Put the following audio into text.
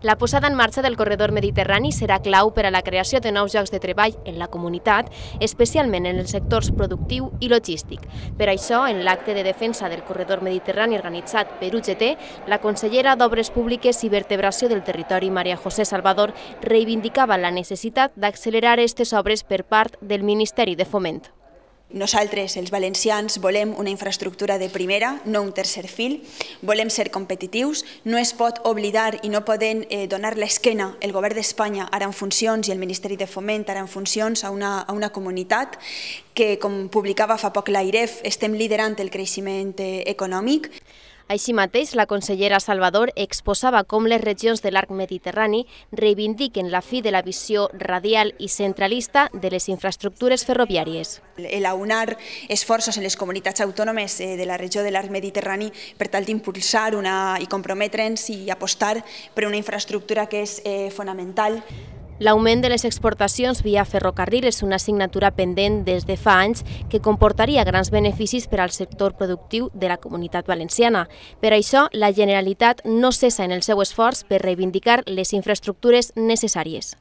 La posada en marxa del corredor mediterrani serà clau per a la creació de nous llocs de treball en la comunitat, especialment en els sectors productiu i logístic. Per això, en l'acte de defensa del corredor mediterrani organitzat per UGT, la consellera d'Obres Públiques i Vertebració del Territori, María José Salvador, reivindicava la necessitat d'accelerar aquestes obres per part del Ministeri de Foment. Nosaltres, els valencians, volem una infraestructura de primera, no un tercer fil, volem ser competitius, no es pot oblidar i no poden donar l'esquena el govern d'Espanya ara en funcions i el Ministeri de Foment ara en funcions a una comunitat que, com publicava fa poc l'AIREF, estem liderant el creixement econòmic. Així mateix, la consellera Salvador exposava com les regions de l'arc mediterrani reivindiquen la fi de la visió radial i centralista de les infraestructures ferroviàries. Aunar esforços en les comunitats autònomes de la regió de l'arc mediterrani per tal d'impulsar i comprometre'ns i apostar per una infraestructura que és fonamental. L'augment de les exportacions via ferrocarril és una assignatura pendent des de fa anys que comportaria grans beneficis per al sector productiu de la comunitat valenciana. Per això, la Generalitat no cessa en el seu esforç per reivindicar les infraestructures necessàries.